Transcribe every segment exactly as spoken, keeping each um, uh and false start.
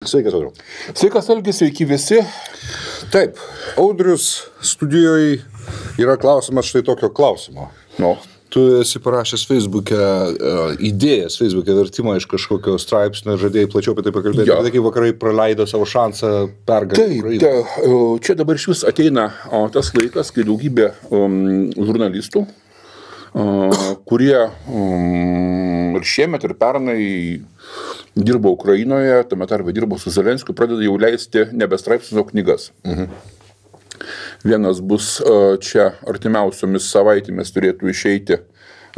Sveikas, Audriu. Sveikas, Algi, sveiki visi. Taip, Audrius studijoje yra klausimas štai tokio klausimo. No. Tu esi parašęs Facebook'e, uh, idėjas Facebook'e vertimą iš kažkokio straipsnio ir žadėjai plačiau apie tai pakalbėti. Ja. Apie tai, kai vakarai praleido savo šansą pergalį Ukrainą. Taip, čia dabar iš vis ateina o, tas laikas, kai daugybė um, žurnalistų, uh, kurie um, ir šiemet ir pernai dirbo Ukrainoje, tame tarpe dirbo su Zelenskiu, pradeda jau leisti nebe straipsnius, o knygas. Mhm. Vienas bus čia artimiausiomis savaitėmis turėtų išeiti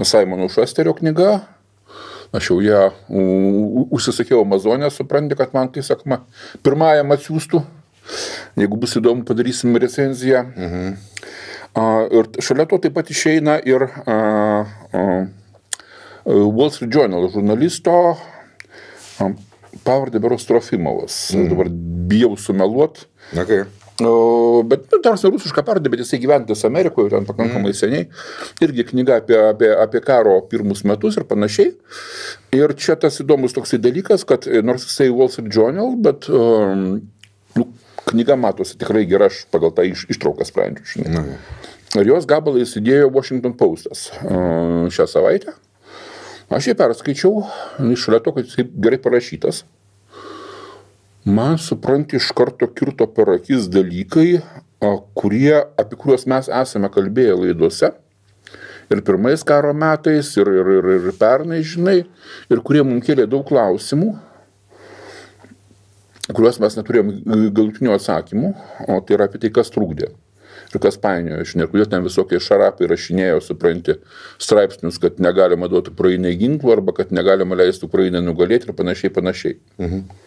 Simono Šusterio knyga. Aš jau ją užsisakiau Amazonę, supranti, kad man, kai sakoma, pirmajam atsiųstų. Jeigu bus įdomu, padarysim recenziją. Mhm. Ir šalia to taip pat išeina ir Wall Street Journal žurnalisto pavardė berods Trofimovas. Mhm. Dabar bijau sumeluot. Okay. O, bet nu, tarsi rusišką pavardė, bet jisai gyventas Amerikoje, ten pakankamai mm. seniai. Irgi knyga apie, apie, apie karo pirmus metus ir panašiai. Ir čia tas įdomus toksai dalykas, kad nors jisai Wall Street Journal, bet um, nu, knyga matosi tikrai gera, aš pagal tą iš, ištrauką sprendžiu. Žinai. Mm. Ir jos gabalą įsidėjo Washington Postas uh, šią savaitę. Aš jį perskaičiau, šalia to, kad jisai gerai parašytas. Man, supranti, iš karto kirto per akis dalykai, kurie, apie kuriuos mes esame kalbėję laidose. Ir pirmais karo metais, ir, ir, ir, ir pernai, žinai, ir kurie mums kėlė daug klausimų, kuriuos mes neturėjom galutinių atsakymų, o tai yra apie tai, kas trukdė. Ir kas painiojo, žinai, kodėl ten visokie šarapai rašinėjo, supranti, straipsnius, kad negalima duoti Ukrainai ginklų, arba kad negalima leisti Ukrainai nugalėti ir panašiai, panašiai. Mhm.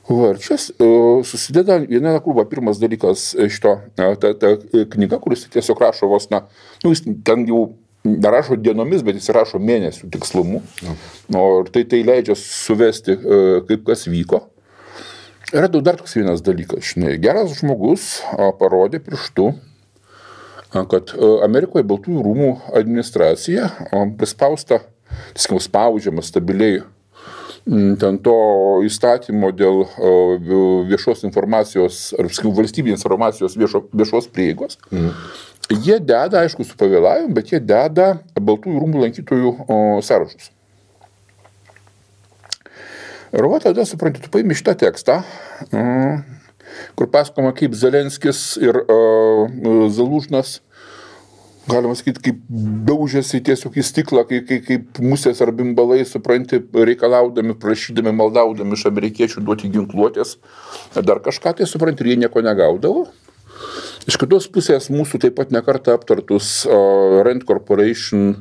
Va, ir čia uh, susideda viena krūva. Pirmas dalykas šito, ta, ta knyga, kuris tiesiog rašo vos, na, nu, jis ten jau nerašo dienomis, bet jis rašo mėnesių tikslumu. Ja. O tai tai leidžia suvesti, uh, kaip kas vyko. Yra dar toks vienas dalykas, žinai, geras žmogus uh, parodė pirštu, uh, kad uh, Amerikoje Baltųjų rūmų administracija uh, prispausta, tiesiog spaudžiama stabiliai ten to įstatymo dėl viešos informacijos, ar valstybinės informacijos viešo, viešos prieigos. Mm. Jie deda, aišku, su pavėlavimu, bet jie deda Baltųjų rūmų lankytojų o, sąrašus. Ir va tada, supranti, tu paimi šitą tekstą, kur pasakoma, kaip Zelenskis ir uh, Zalužnas, galima sakyti, kaip daužėsi tiesiog į stiklą, kaip, kaip, kaip musės ar bimbalai, supranti, reikalaudami, prašydami, maldaudami iš amerikiečių duoti ginkluotės, dar kažką tai, supranti, ir jie nieko negaudavo. Iš kitos pusės mūsų taip pat nekartą aptartus uh, Rand Corporation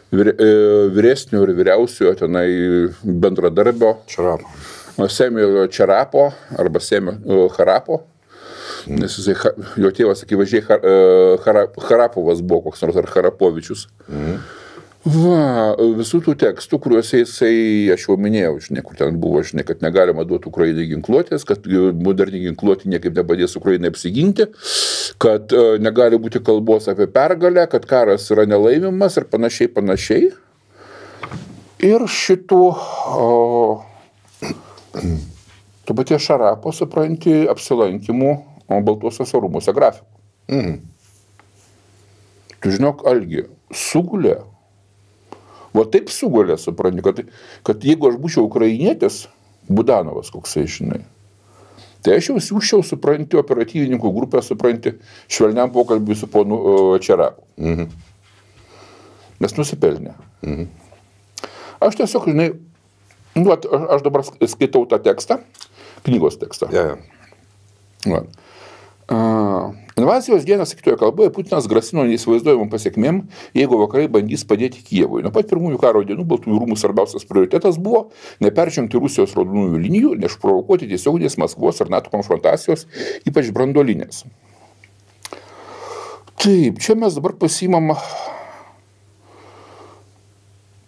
vyre, uh, vyresnio ir vyriausiojo tenai bendradarbio Čarapo. Semio Čarapo arba Semio uh, Harapo. Nes jisai, jo tėvas, akivaizdžiai, Harapovas buvo koks nors, ar Harapovičius. Mm. Va, visų tų tekstų, kuriuose jisai, aš jau minėjau, žinai, kur ten buvo, žinai, kad negalima duoti Ukrainai ginkluotės, kad moderni ginkluotė niekaip nepadės Ukrainai apsiginti, kad uh, negali būti kalbos apie pergalę, kad karas yra nelaimimas ir panašiai, panašiai. Ir šitų uh, to paties Šarapo, supranti, apsilankimų Baltuosiuose rūmuose grafikų. Mm. Tu žinok, Algi, sugulė. Va taip sugulė, supranti, kad, kad jeigu aš būčiau ukrainietis, Budanovas koksai, žinai, tai aš jau siūščiau, supranti, operatyvininkų grupę, supranti, švelniam pokalbį su ponu uh, Čerapu. Mm-hmm. Nes nusipelnė. Mm-hmm. Aš tiesiog, žinai, nu, aš, aš dabar skaitau tą tekstą, knygos tekstą. Yeah, yeah. Uh, invazijos dieną sakytoje kalboje Putinas grasino neįsivaizduojamom pasiekmėm, jeigu vakarai bandys padėti Kijevui. Nuo pat pirmųjų karo dienų Baltųjų rūmų svarbiausias prioritetas buvo neperžengti Rusijos raudonųjų linijų, neišprovokuoti tiesioginės Maskvos ar NATO konfrontacijos, ypač branduolinės. Taip, čia mes dabar pasiimam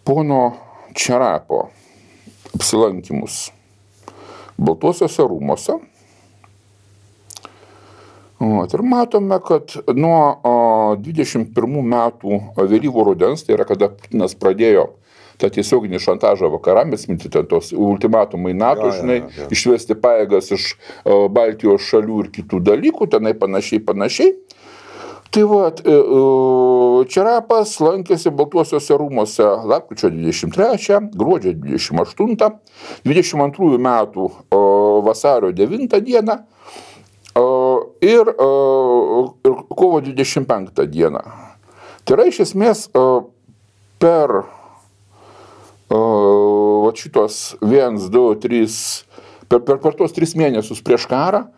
pono Čarapo apsilankimus Baltuosiuose rūmuose. O, ir matome, kad nuo o, dvidešimt pirmų metų vėlyvo rudens, tai yra kada Putinas pradėjo tą tiesioginį šantažą vakaram, atminti ten tos ultimatumai NATO, Ja, žinai, ja, ja. išvesti pajėgas iš o, Baltijos šalių ir kitų dalykų, tenai panašiai, panašiai. Tai va, Čerapas lankėsi Baltuosiuose rūmuose lapkričio dvidešimt trečią, gruodžio dvidešimt aštuntą, dvidešimt antrųjų metų vasario devintą dieną ir, ir kovo dvidešimt penktą dieną. Tai yra iš esmės per va, šitos vienas, du, trys, per, per, per tos tris mėnesius prieš karą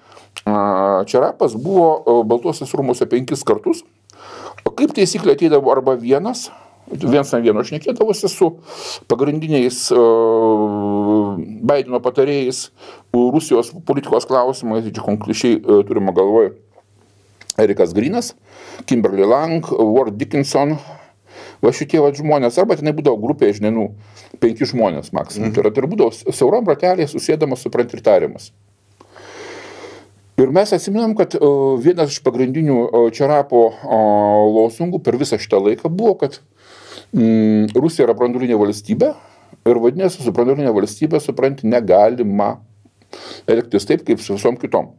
Čerapas buvo Baltuosiuose rūmuose penkis kartus. O kaip taisyklė ateidavo arba vienas, viens ant vieno šnekėdavosi su pagrindiniais uh, Baideno patarėjais Rusijos politikos klausimais, čia konkrečiai uh, turime galvoje Erikas Grinas, Kimberly Lang, Ward Dickinson, va šitie va žmonės, arba tenai būdavo grupė, žinai, nu, penki žmonės maksimum. Mm. Tai yra, tai būdavo siauram ratelėje susėdamas, suprant ir tariamas. Ir mes atsiminam, kad uh, vienas iš pagrindinių uh, Čerapo uh, lozungų per visą šitą laiką buvo, kad mm, Rusija yra branduolinė valstybė ir vadinasi, su branduolinė valstybė, supranti, negalima elgtis taip, kaip su visom kitom.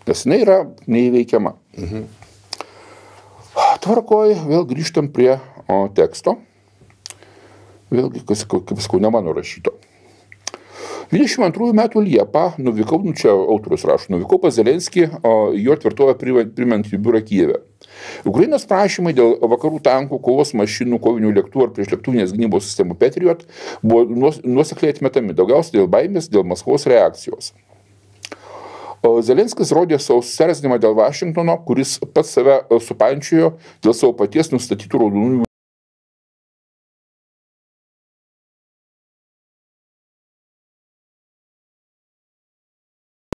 Nes jinai yra neįveikiama. Mhm. Tvarkoj, vėl grįžtam prie o, teksto. Vėlgi, kas, kaip sakau, ne mano rašyto. dvidešimt antrųjų metų Liepą nuvykau, nu čia autorius rašo, nuvykau pas Zelenskį, jo tvirtovę primant jų biurą Kijeve. Ukrainos prašymai dėl vakarų tankų, kovos mašinų, kovinių lėktuvų ar priešlėktuvinės gynybos sistemų Patriot buvo nuosekliai atmetami, daugiausiai dėl baimės, dėl Maskvos reakcijos. O Zelenskis rodė savo susierzinimą dėl Vašingtono, kuris pats save supančiojo dėl savo paties nustatytų raudonųjų